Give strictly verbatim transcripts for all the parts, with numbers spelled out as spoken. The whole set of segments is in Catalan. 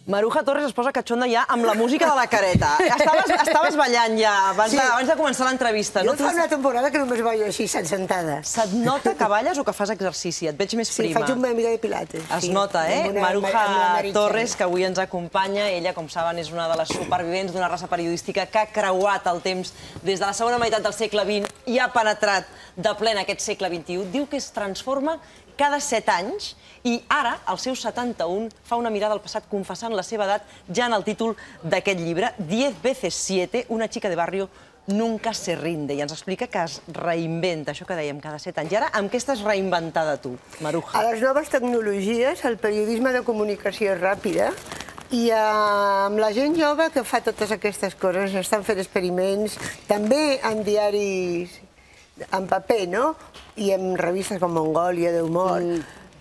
Maruja Torres es posa catxonda ja amb la música de la careta. Estaves, estaves ballant ja abans, sí. de, abans de començar l'entrevista. Jo no fa una temporada que només ballo així, sentada. Se't nota que balles o que fas exercici? Et veig més prima. Sí, faig una mica de pilates. Es sí. nota, eh? Una, Maruja Torres, que avui ens acompanya. Ella, com saben, és una de les supervivents d'una raça periodística que ha creuat el temps des de la segona meitat del segle vint i ha penetrat de ple en aquest segle vint-i-u. Diu que es transforma cada set anys i ara, als seus setanta-un, fa una mirada al passat confessant la seva edat ja en el títol d'aquest llibre, Diez veces siete, una chica de barrio nunca se rinde. I ens explica que es reinventa, això que dèiem, cada set anys. I ara, amb què estàs reinventada tu, Maruja? A les noves tecnologies, el periodisme de comunicació ràpida, i amb la gent jove que fa totes aquestes coses, estan fent experiments, també en diaris en paper, no? I en revistes com Mongòlia, d'humor.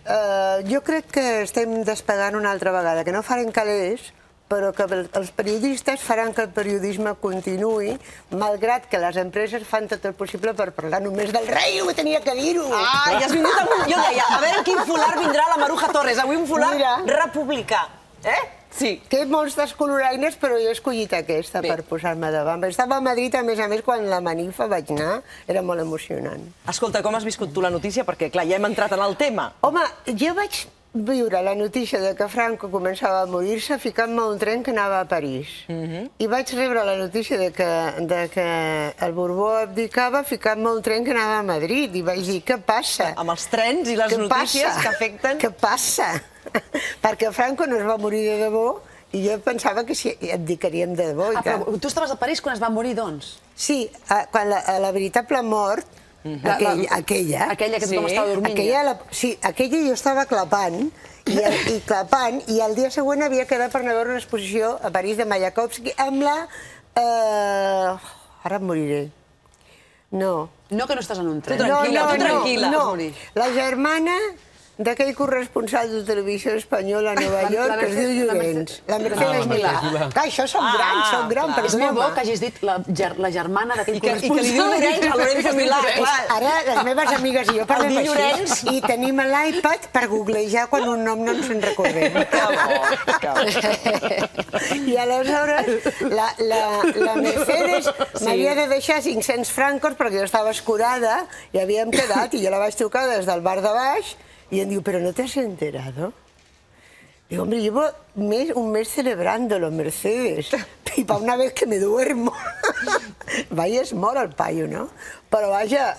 Uh, jo crec que estem despegant una altra vegada, que no farem calés, però que els periodistes faran que el periodisme continuï, malgrat que les empreses fan tot el possible per parlar només del rei, ho tenia que dir-ho. Ah, i has vingut amb un... Jo deia, a veure quin folar vindrà la Maruja Torres. Avui un folar republicà. Eh? Sí. Té molts descoloraines, però jo he escollit aquesta per posar-me davant. Estava a Madrid, a més a més, quan la Manifa vaig anar, era molt emocionant. Escolta, com has viscut tu la notícia? Perquè, clar, ja hem entrat en el tema. Home, jo vaig viure la notícia de que Franco començava a morir-se ficant-me a un tren que anava a París. I vaig rebre la notícia de que el Borbó abdicava ficant-me a un tren que anava a Madrid. I vaig dir, què passa? Amb els trens i les notícies que afecten... Què passa? Perquè Franco no es va morir de debò i jo pensava que sí, abdicaríem de debò. Ah, però tu estaves a París quan es va morir, doncs? Sí, quan la veritable mort, aquella... Aquella que tothom estava dormint. Sí, aquella jo estava clapant, i clapant, i el dia següent havia quedat per anar a veure una exposició a París de Mayakovsky amb la... Ara em moriré. No. No, que no estàs en un tren. No, no, no. La germana d'aquell corresponsal de Televisió Espanyola a Nova York, que es diu Llorenç. La Mercedes Milà. Clar, això som gran, som gran, és molt bo que hagis dit la germana d'aquell corresponsal. I que li diu Llorenç a Lorenzo Milà. Ara les meves amigues i jo parlem així i tenim l'iPad per googlejar quan un nom no ens en recordem. I aleshores la Mercedes m'havia de deixar cinc-cents francos perquè jo estava escurada i havíem quedat i jo la vaig trucar des del bar de baix y él dijo, ¿pero no te has enterado? Digo, hombre, llevo un mes celebrándolo, Mercedes, y para una vez que me duermo. Vaya, es mort el paio, no? Però vaja,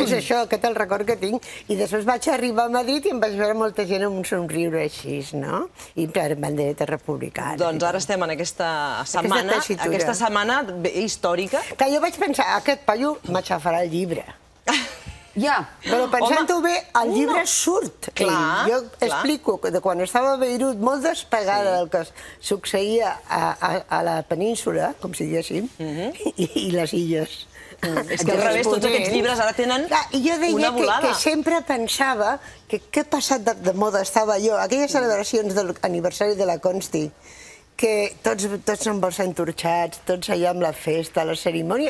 és això, aquest el record que tinc. I després vaig arribar a Madrid i em vaig veure molta gent amb un somriure així, no? I amb bandereta republicana. Doncs ara estem en aquesta setmana, aquesta setmana històrica. Que jo vaig pensar, aquest paio m'aixafarà el llibre. Ja. Però pensant-ho bé, el llibre surt. Jo explico que quan estava a Beirut, molt despegada del que succeïa a la península, com si diguéssim, i les illes. És que al revés, tots aquests llibres ara tenen una volada. I jo deia que sempre pensava que què passat de moda estava jo. Aquelles celebracions de l'aniversari de la Consti, que tots amb els entorxats, tots allà amb la festa, la cerimònia,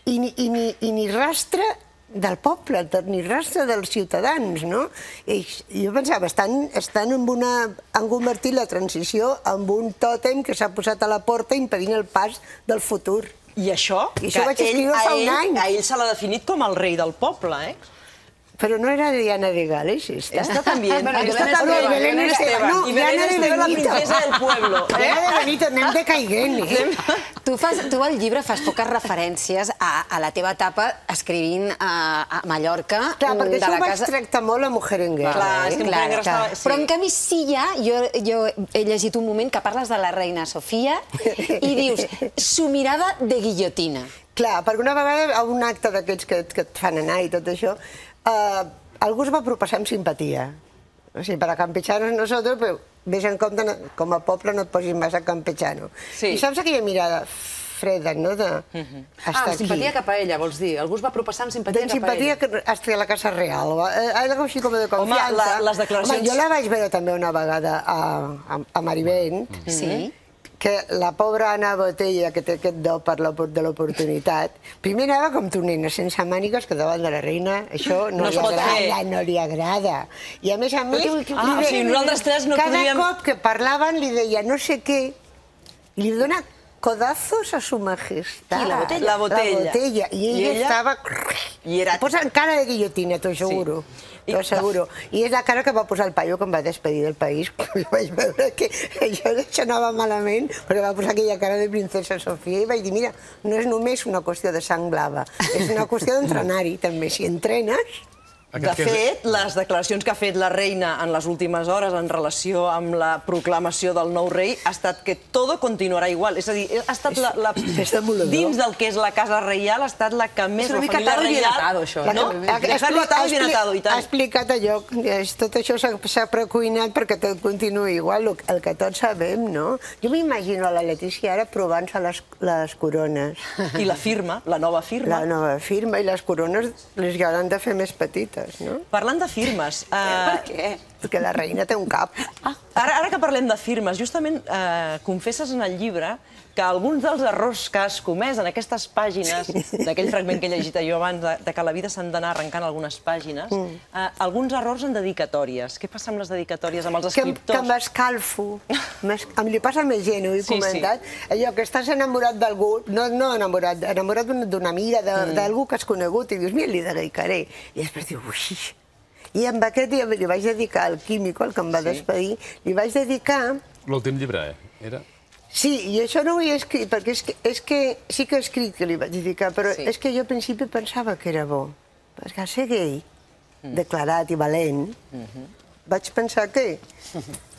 i ni rastre del poble, ni rastre dels ciutadans, no? Jo pensava, han convertit la transició en un tòtem que s'ha posat a la porta impedint el pas del futur. I això, que a ell se l'ha definit com el rei del poble, eh? Pero no era Diana de Gales, esta. Esta también. Esta también. Belén Esteban. Y Belén Esteban, la princesa del pueblo. Diana de Benito, anem de caiguent, eh? Tu al llibre fas poques referències a la teva etapa escrivint a Mallorca. Clar, perquè això ho vaig tractar molt a Mujerenguer. Clar, és que Mujerenguer estava... Però en canvi sí ja, jo he llegit un moment que parles de la reina Sofia i dius, su mirada de guillotina. Clar, perquè una vegada a un acte d'aquests que et fan anar i tot això, algú es va proposar amb simpatia. O sigui, per a campechar-nos nosaltres, però vés en compte, com a poble no et posis massa a campechar-nos. I saps aquella mirada freda, no? Ah, simpatia cap a ella, vols dir? Algú es va proposar amb simpatia cap a ella? Simpatia hasta la Casa Real. Algo així com de confiança. Home, les declaracions... Jo la vaig veure també una vegada a Marivent. Sí. que la pobra Anna Botella, que té aquest do per de l'oportunitat, primer anava com tu, nena, sense mànigues, que davant de la reina això no, No es li pot agrada, fer. no li agrada. I a més a més, Ah, o sigui, nosaltres tres no cada podríem- cop que parlaven li deia no sé què, i li dona codazos a su majestad. Qui, la Botella? La Botella. La Botella. I ella, I ella? estava... I era- Posa cara de guillotina, t'ho asseguro. I- T'ho asseguro. I és la cara que va posar el paio quan va despedir del país. Quan vaig veure que això, això anava malament, perquè va posar aquella cara de princesa Sofia i vaig dir, mira, no és només una qüestió de sang blava, és una qüestió d'entrenar-hi, també. Si entrenes... De fet, les declaracions que ha fet la reina en les últimes hores en relació amb la proclamació del nou rei ha estat que todo continuarà igual. És a dir, ha estat la, la, És demoledor. dins del que és la casa reial, ha estat la que més... És una la mica família atado y bien reial- atado, això, No? eh? Dejarlo atado y bien atado, i Ha tant. explicat allò, és- tot això s'ha s'ha precuinat perquè tot continuï igual, el, el que tots sabem, no? Jo m'imagino a la Letícia ara provant-se les, les corones. I la firma, la nova firma. La nova firma, i les corones les hauran de fer més petites, no? Parlant de firmes... Eh, Per què? Perquè la reina té un cap. Ara, ara que parlem de firmes, justament eh, confesses en el llibre que alguns dels errors que has comès en aquestes pàgines, d'aquell fragment que he llegit jo abans, de, de que a la vida s'han d'anar arrencant algunes pàgines, Mm. eh, alguns errors en dedicatòries. Què passa amb les dedicatòries, amb els Que, que escriptors? m'escalfo. M'es- Em li passa més gent, ho he Sí, comentat. Allò que estàs enamorat d'algú, no, no enamorat, enamorat d'una- d'una amiga, de- d'algú que has conegut, i dius, mira, li dedicaré. I després dius, ui... I amb aquest dia li vaig dedicar al Químico, el que em va despedir, li vaig dedicar... L'últim llibre, eh? Era... Sí, i això no ho he escrit, perquè és que, és que sí que he escrit que li vaig dedicar, però Sí. és que jo al principi pensava que era bo. Perquè al ser gay, declarat i valent, vaig pensar que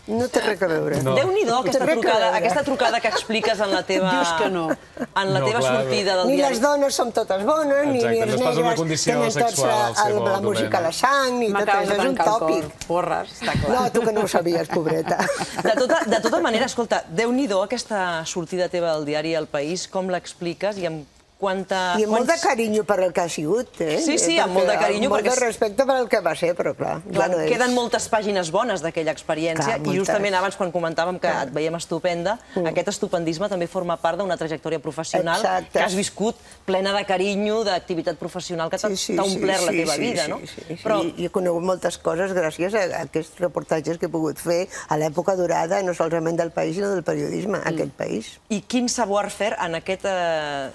no té res a veure. No. Déu-n'hi-do, aquesta Té res a trucada, veure. aquesta trucada que expliques en la teva... Dius que no. En la No, teva clar, sortida del Ni diari. les dones som totes bones, ni, Exacte, ni els no es posa una negres condició tenen tots sexual al la, seu la música a la sang, ni tot M'acabes això, de és un tancar el tòpic. cor. Porres, està clar. No, tu que no ho sabies, pobreta. De tota, de tota manera, escolta, Déu-n'hi-do aquesta sortida teva del diari El País, com l'expliques i amb quanta... I amb molt de quants- carinyo per el que ha sigut, eh? Sí, sí, amb Perquè- molt de carinyo, Amb molt perquè de és- respecte per el que va ser, però clar, Clar, ja no és. queden moltes pàgines bones d'aquella experiència Clar, i moltes. justament abans, quan comentàvem que et veiem estupenda, aquest estupendisme també forma part d'una trajectòria professional Exacte. que has viscut plena de carinyo, d'activitat professional, que t'ha t'ha omplert la teva vida, no? Sí, sí, sí. Però I he conegut moltes coses gràcies a aquests reportatges que he pogut fer a l'època dorada, no solament del país, sinó del periodisme, a aquest país. I quin savoir-faire en aquest, eh,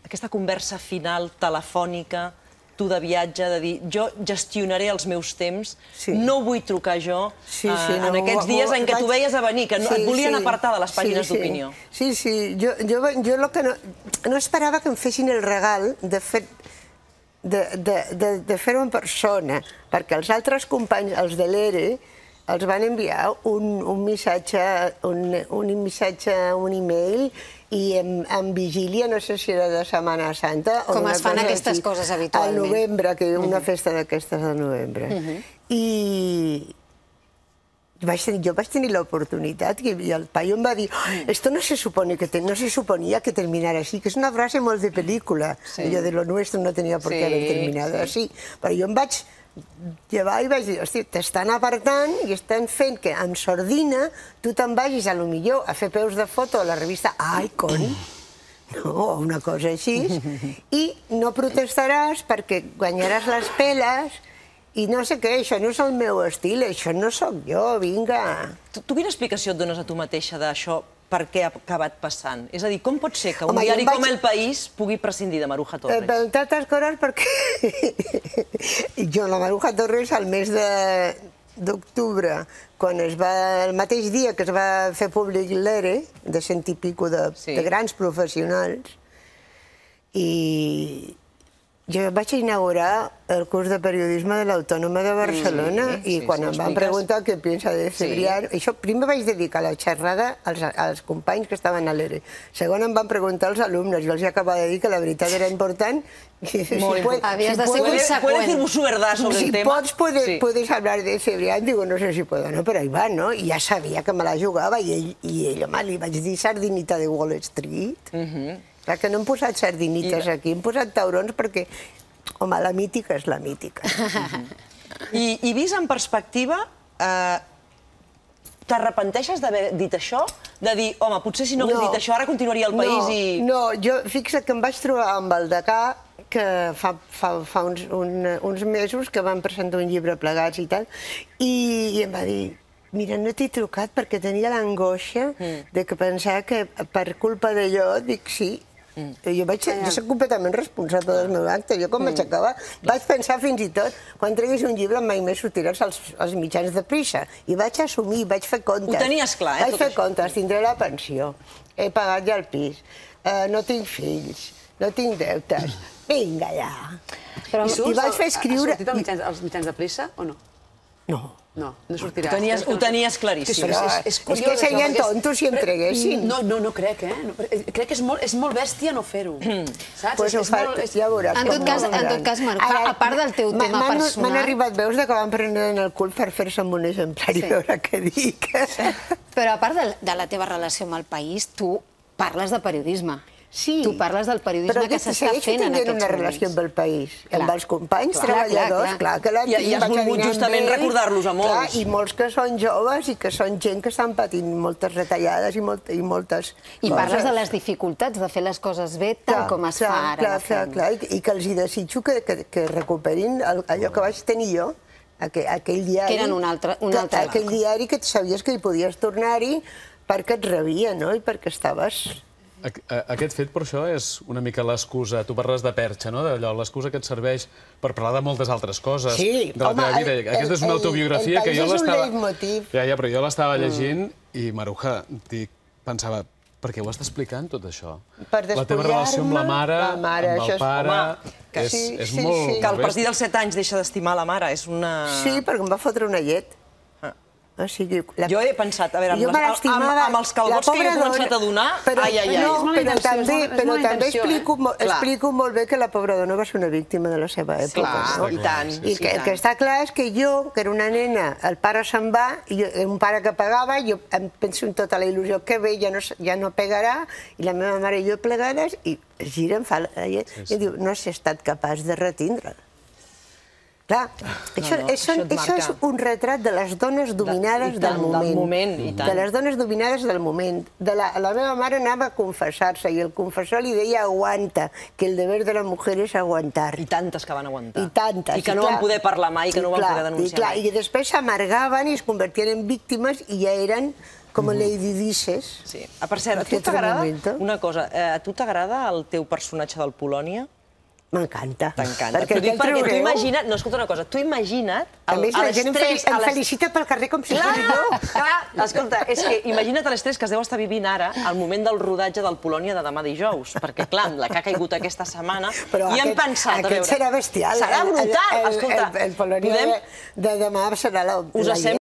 aquesta conversa final telefònica, tu de viatge, de dir, jo gestionaré els meus temps, Sí. no vull trucar jo, Sí, eh, sí, no, en aquests ho- dies ho- en què tu vaig- veies a venir, que no, et Sí, volien sí. apartar de les pàgines Sí, sí. d'opinió. Sí, sí, jo, jo, jo el que no, no esperava que em fessin el regal de fer de, de, de, de fer-ho en persona, perquè els altres companys, els de l'E R E, els van enviar un, un missatge, un, un missatge, un e-mail, i en, en vigília, no sé si era de Setmana Santa... o Com una es fan cosa aquestes així, coses habitualment. Al novembre, que una festa d'aquestes al novembre. I... Vaig tenir, jo vaig tenir l'oportunitat i el paio em va dir esto no se supone que te, no se suponía que terminara así, que és una frase molt de pel·lícula. Sí. Allò de lo nuestro no tenia por qué Sí, haber terminado sí. así. Però jo em vaig llevar i vaig dir, hosti, t'estan apartant i estan fent que en sordina tu te'n vagis a lo millor a fer peus de foto a la revista Icon, no, o una cosa així, i no protestaràs perquè guanyaràs les peles i no sé què, això no és el meu estil, això no sóc jo, vinga. Tu, tu quina explicació et dones a tu mateixa d'això, per què ha acabat passant? És a dir, com pot ser que un Home, jo diari em vaig- com El País pugui prescindir de Maruja Eh, Torres? per entre altres coses perquè jo, la Maruja Torres, al mes de- d'octubre, quan es va, el mateix dia que es va fer públic l'E R E, de cent i pico de, Sí. de grans professionals, i jo vaig inaugurar el curs de periodisme de l'Autònoma de Barcelona Sí, i sí, quan sí, em van expliques. preguntar què pensa de Cebrián, això primer vaig dedicar la xerrada als, als companys que estaven a l'E R E. Segon em van preguntar als alumnes i els he acabat de dir que la veritat era important. I si Molt puede- Havies si de ser puede- ¿Puede, conseqüent. puede decir su verdad sobre si el tema? pots, puede, Sí. puedes hablar de Cebrián, digo, no sé si puedo, no, però ahí va, no? I ja sabia que me la jugava i ell, i ell home, li vaig dir sardinita de Wall Street. Clar que no hem posat sardinites I- aquí, hem posat taurons perquè, home, la mítica és la mítica. I, I vist en perspectiva, eh, t'arrepenteixes d'haver dit això? de dir, home, potser si no hagués dit això, ara continuaria al país i... No, jo, fixa't que em vaig trobar amb el Decà, que fa, fa, fa uns, un, uns mesos que van presentar un llibre plegats i tal, i, i em va dir, mira, no t'he trucat perquè tenia l'angoixa mm. de que pensava que per culpa d'allò, dic sí, mm. jo, vaig ser, jo soc completament responsable del meu acte, jo quan mm. vaig acabar vaig pensar fins i tot, quan treguis un llibre mai més sortiràs als, als mitjans de prisa, i vaig assumir, vaig fer comptes. Ho tenies clar, eh? Vaig fer comptes, tindré la pensió, he pagat ja el pis, eh, no tinc fills, no tinc deutes, vinga ja. Però, I, I vaig fer escriure... Ha sortit als mitjans, als mitjans de pressa o no? No. No, no sortirà. Ho tenies, ho tenies claríssim. Però és, és, és que serien tontos si em treguessin. No, no, no crec, eh? No, crec que és molt, és molt bèstia no fer-ho. Saps? Pues ho fa, és, ja veuràs. En tot cas, en tot cas, Marc, a part del teu tema personal... M'han arribat veus de que van prendre en el cul per fer-se amb un exemplar i veure què dic. Però a part de, de la teva relació amb el país, tu parles de periodisme. Sí, tu parles del periodisme que s'està fent en aquests moments. una relació amb el país, clar, amb els companys clar, treballadors, clar, clar, clar que la tinc. I has volgut justament recordar-los a molts. Clar, i molts que són joves i que són gent que estan patint moltes retallades i, molt, i moltes I coses. parles de les dificultats de fer les coses bé tal clar, com es clar, fa ara. Clar, clar, clar, i, i que els hi desitjo que, que, que recuperin el, allò que vaig tenir jo, aquell, aquell diari... Que eren un altre... Un que, altre aquell diari que sabies que hi podies tornar-hi perquè et rebia, no?, i perquè estaves... Aquest fet, per això, és una mica l'excusa. Tu parles de perxa, no? D'allò, l'excusa que et serveix per parlar de moltes altres coses. Sí, de la home, teva vida. Aquesta és una autobiografia que jo l'estava... El país és un leitmotiv. Ja, ja, però jo l'estava llegint i, Maruja, dic, pensava, per què ho estàs explicant, tot això? Per la teva relació amb la mare, la mare amb el pare... que és, sí, és sí, molt... sí. Que el partit dels set anys deixa d'estimar la mare, és una... Sí, perquè em va fotre una llet. O sigui, la... Jo he pensat, a veure, amb, les, amb, amb els calvots que he començat a donar... Però, ai, ai, ai. no, però intenció, també, és molt- és però molt també intenció, explico, eh? mo- explico molt bé que la pobra dona va ser una víctima de la seva època. Clar, no? i tant. I que, el que està clar és que jo, que era una nena, el pare se'n va, i jo, un pare que pagava, jo em penso en tota la il·lusió que ve, ja no, ja no pegarà, i la meva mare i jo plegades, i es gira, em fa la llet, sí, sí. I diu, no has estat capaç de retindre'l. Clar, això, no, això, això et això és marca. un retrat de les dones dominades De- i tant, del moment. del moment, i tant. De les dones dominades del moment. De la, la meva mare anava a confessar-se i el confessor li deia aguanta, que el deber de la mujer és aguantar. I tantes que van aguantar. I tantes. I que no clar, van poder parlar mai, que no van clar, poder denunciar i clar, mai. I després s'amargaven i es convertien en víctimes i ja eren com Lady Disses. Sí. Ah, per cert, a tu Aquest t'agrada... momento. Una cosa, eh, a tu t'agrada el teu personatge del Polònia? M'encanta. T'encanta. Perquè T'ho dic el perquè tu traureu. imagina't... No, escolta una cosa, tu imagina't... A el- més, la gent em, fel l'estrès, a em les- felicita pel carrer com si fos Clar, jo. clar, escolta, és que imagina't l'estrès que es deu estar vivint ara al moment del rodatge del Polònia de demà dijous, perquè, clar, la que ha caigut aquesta setmana, Però i hem aquest, pensat, a aquest veure... serà bestial. Serà El- el- brutal, el, escolta. El, el Polònia podem... de, de demà serà la, Us la sembla